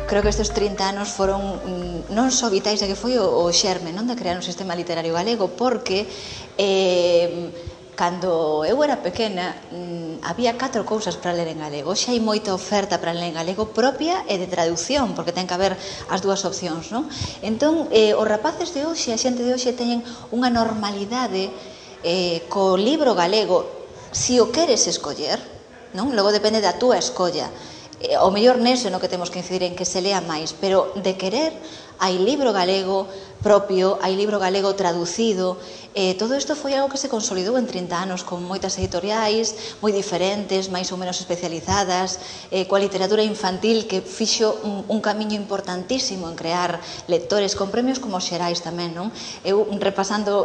creo que estes 30 anos foron non só vitais, que foi o xerme, non, de crear un sistema literario galego, porque cando eu era pequena había 4 cousas para ler en galego. Hoxe hai moita oferta para ler en galego propia e de traducción, porque ten que haber as dúas opcións, non? Entón, os rapaces de hoxe, a xente de hoxe teñen unha normalidade co libro galego, si o queres escoller, non? Logo depende da túa escolla. O mellor neso no que temos que incidir en que se lea máis, pero de querer hai libro galego propio, hai libro galego traducido. Todo isto foi algo que se consolidou en 30 anos con moitas editoriais moi diferentes, máis ou menos especializadas, coa literatura infantil que fixo un camiño importantísimo en crear lectores con premios como os Xerais tamén, non? Eu, repasando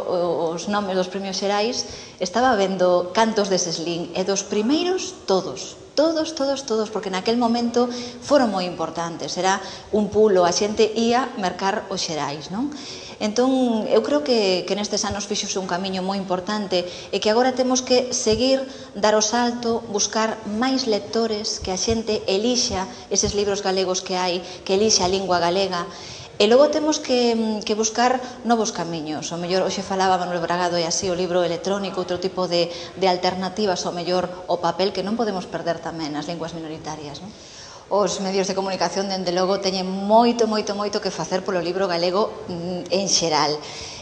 os nomes dos premios Xerais, estaba vendo cantos de Seslín e dos primeiros todos, porque naquel momento foron moi importantes, era un pulo, a xente ia mercar os Xerais, non? Entón, eu creo que nestes anos fixose un camiño moi importante e que agora temos que seguir, dar o salto, buscar máis lectores, que a xente elixa eses libros galegos que hai, que elixa a lingua galega. E logo temos que buscar novos camiños. O mellor, hoxe falaba Manuel Bragado e así, o libro electrónico, outro tipo de alternativas, o mellor, o papel, que non podemos perder tamén nas linguas minoritarias, non? Os medios de comunicación, dende logo, teñen moito que facer polo libro galego en xeral.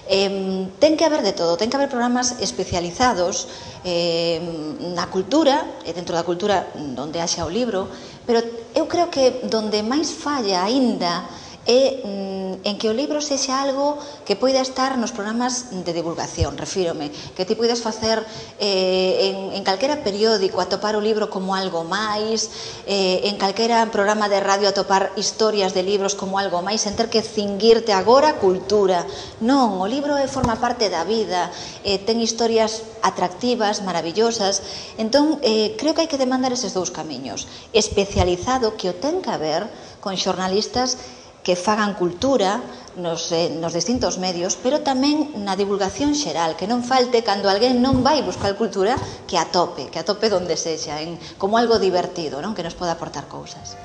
Ten que haber de todo, ten que haber programas especializados na cultura, e dentro da cultura onde haxa o libro, pero eu creo que donde máis falla aínda é en que o libro sexa algo que poida estar nos programas de divulgación, refírome, que ti poidas facer en calquera periódico atopar o libro como algo máis, en calquera programa de radio atopar historias de libros como algo máis, sen ter que cinguirte agora a cultura. Non, o libro forma parte da vida, ten historias atractivas, maravillosas. Entón, creo que hai que demandar eses dous camiños. Especializado, que o ten que haber, con xornalistas que fagan cultura nos distintos medios, pero tamén na divulgación xeral, que non falte cando alguén non vai buscar cultura, que atope donde sexa, como algo divertido, non? Que nos poda aportar cousas.